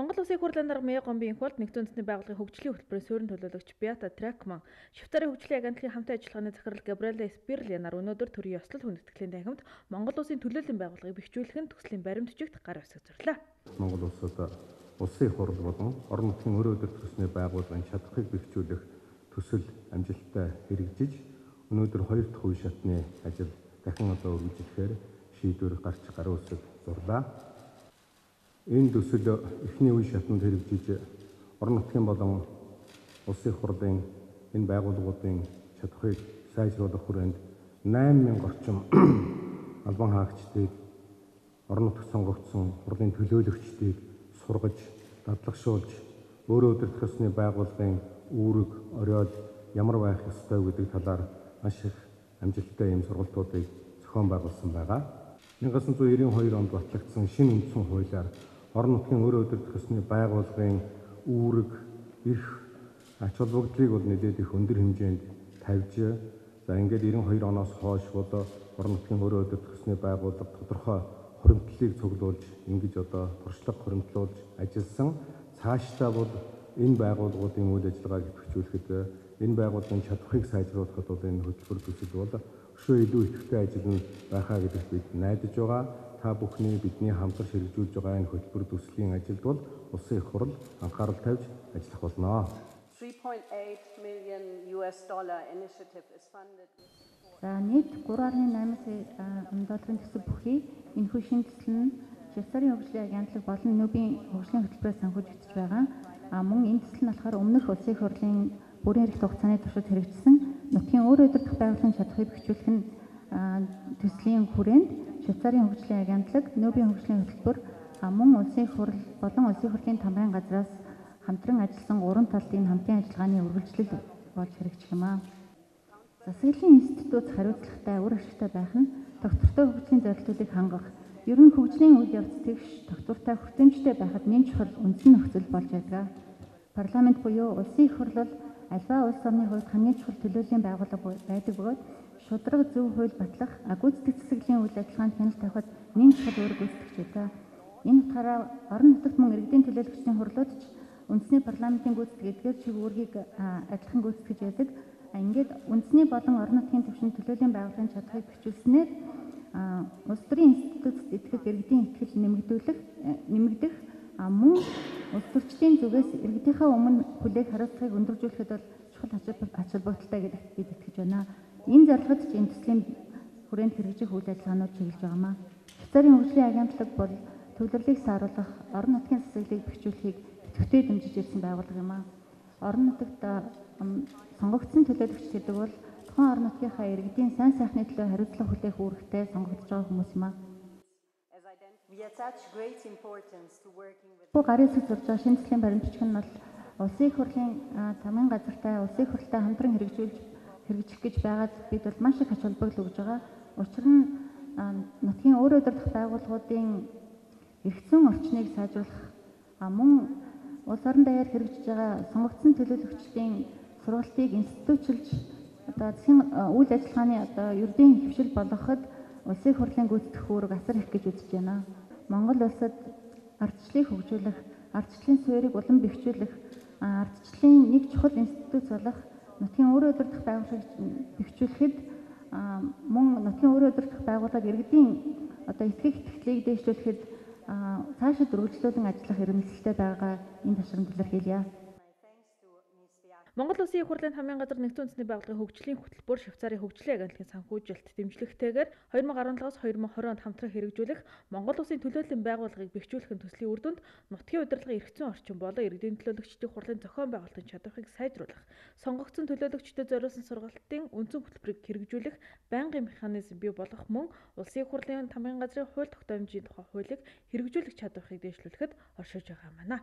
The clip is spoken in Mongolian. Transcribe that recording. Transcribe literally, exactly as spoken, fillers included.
Монгол Улсын хурлын дарга Мяа Гомбын их болд нэгдсэн үндэсний байгууллагын хөгжлийн хөтөлбөрийн суурин төлөөлөгч Беата Тракман, Швейцарын хөгжлийн агентлагийн хамтын ажиллагааны захирал Габриэла Спирлянаар өнөөдөр төрийн ёслол хүндэтгэлийн танхимд Монгол Улсын төлөөллийн байгууллагыг бэхжүүлэх нь төслийн баримт бичигт гар үсэг зурлаа. Монгол улсад улсын их хурл болон орон нутгийн өрөө өдөр төсний байгууллагын чадхыг бэхжүүлэх төсөл амжилттай хэрэгжиж өнөөдөр хоёр дахь үе шатны ажил дахин одоо үргэлжлэхээр шийдвэр гарч гар үсэг зурлаа. Энэ төсөл эхний үе шатнд хэрэгжиж орон нутгийн болон улсын хурлын энэ байгууллагуудын чадхыг сайжруулах хүрээнд найман мянга орчим албан хаагчдыг орон нутагт сонгогдсон хурлын төлөөлөгчдийг сургаж, дадлагшуулж, өөрөө удирдах ёсны байгууллагын үүрэг, оройд ямар байх ёстой гэдэг талаар маш их амжилттай ийм сургалтуудыг зохион байгуулсан байгаа. 천구 девяносто онд батлагдсан шинэ үндсэн хуулиар орон нутгийн өөрөө удирдах ёсны байгууллагын үүрэг, эрх, ач холбогдлыг бол нэлээд их өндөр хэмжээнд тавьж, за ингээд девяносто оноос хойш бол орон нутгийн өөрөө удирдах ёсны байгууллага тодорхой хуримтлалыг цуглуулж, ингэж одоо туршлага хуримтлуулж ажилласан. Цаашдаа бол энэ байгууллагуудын үйл ажиллагааг идэвхжүүлэхэд, энэ байгууллагын чадварыг сайжруулахад бол энэ хөтөлбөр төсөл бол өшөө илүү идэвхтэй ажил нь байхаа гэдэгт бид найдаж байгаа. Та бүхний бидний хамтарч хэрэгжүүлж байгаа энэ хөтөлбөр төслийн ажилд бол улсын их хурл анхаарал тавьж ажиллах болно. three point eight million U S dollar initiative is funded. За нийт гурван гаруй найман сая долларын төсөв бүхий энэхүү шинэ төсөл нь Швейцарын хөгжлийн агентлаг болон Нобелийн хөгжлийн хөтөлбөрөөр санхүүжигдэж байгаа. А мөн энэ төсөл нь болохоор өмнөх улсын их хурлын бүрэн эрхт хугацааны туршид хэрэгжсэн нутгийн өөрөө удирдах байгууллагын чадхыг бэхжүүлэх нь төслийн хүрээнд Швейцарын хөгжлийн агентлаг, Нобелийн хөгжлийн хөтөлбөр, мөн улсын их хурл болон улсын хурлын тамгын газраас хамтран ажилласан гурван талын хамтын ажиллагааны үргэлжлэл болж хэрэгжих юм аа. Засаглалын институт хариуцлагатай, үр ашигтай байх нь доктортой хөгжлийн зорилтуудыг хангах, ер нь хөгжлийн үйл явц тэгш доктортой хүртээмжтэй байхад нэн чухал үндсэн нөхцөл болж байдаг. Парламент буюу улсын их хурл альва улс орны хувьд хамгийн чухал төлөөллийн байгууллага байдаг бөгөөд шударга зөв хууль батлах, гүйцэтгэх засаглалын үйл ажиллагаанд хяналт тавихад нэн чухал үүрэг гүйцэтгэж байдаг. Энэ утгаараа орон нутагт мөн иргэдийн төлөөлөгчдийн хурлууд ч үндэсний парламентын гүйцэтгэх эдгээр чиг үүргийг адилхан гүйцэтгэж байдаг. Ингээд үндэсний болон орон нутгийн түвшинд төлөөллийн байгууллагын чадхыг бэхжүүлснээр улс төрийн институтад итгэх иргэдийн итгэл нэмэгдүүлэх, нэмэгдэх мөн улс төрчдийн зүгээс иргэдийнхээ өмнө хүлээх хариуцлагыг өндөржүүлэхэд бол чухал ач холбогдолтой гэдэгт бид итгэж байна. Энэ зорилгод ч энэ төслийн хүрээнд хэрэгжих үйл ажиллагаанууд чиглэж байгаамаа. Швейцарын хөгжлийн агентлаг бол төвлөрлийг сааруулах, орон нутгийн засаглалыг бэхжүүлэхийг идэвхтэй дэмжиж ирсэн байгууллага юм аа. Орон нутагт сонгогдсон төлөөлөгч гэдэг бол тухайн орон нутгийнхаа иргэдийн сайн сайхны төлөө хариуцлага хүлээх үүрэгтэй сонгогдож байгаа хүмүүс юм аа. Бу гарын үсэг зурж байгаа шинэ төслийн баримт бичиг нь бол улсын их хурлын тамгын газартай, улсын их хурлтай хамтран хэрэгжүүлж хэрэгжих гэж байгаад бид бол маш их ач холбогдол өгж байгаа. Учир нь нутгийн өөрөө удирдах байгууллагуудын эрхцэн орчныг сайжруулах, мөн улс орон даяар хэрэгжиж байгаа сонгогдсон төлөөлөгчдийн сургалтыг институтчилж одоо засгийн үйл ажиллагааны одоо ердийн хөвшил болгоход улсын хурлын гүйцэтгэх үүрэг асар их гэж үзэж байна. Монгол улсад ардчлалыг хөгжүүлэх, ардчлалын суурийг улам бэхжүүлэх, ардчлалын нэг чухал институт болох нутгийн өөрөө удирдах байгууллагыг бэхжүүлэхэд мөн нутгийн өөрөө удирдах байгууллага иргэдийн одоо итгэх итгэлийг дэвшүүлэхэд цаашид үргэлжлүүлэн ажиллах эрмэлзэлтэй байгаа энэ ташрамд илэрхийлье. Монгол Улсын их хурлын тамгын газар нэгдсэн үндэсний байгууллагын хөгжлийн хөтөлбөр Швейцарын хөгжлийн агентлагийн санхүүжилт дэмжлэгтэйгээр две тысячи десятоос две тысячи двадцать онд хамтран хэрэгжүүлэх Монгол Улсын төлөөллийн байгууллагыг бэхжүүлэхин төслийн үр дүнд нутгийн удирдлагын эрхцэн орчин болон иргэдийн төлөөлөгчдийн хурлын зохион байгуулалтын чадварыг сайжруулах, сонгогдсон төлөөлөгчдөд зориулсан сургалтын үндсэн хөтөлбөрийг хэрэгжүүлэх байнгын механизм бий болгох мөн Улсын их хурлын тамгын газрын хууль тогтоомжийн тухай хуулийг хэрэгжүүлэх чадварыг дэвшлүүлэхэд оршиж байгаа юм байна.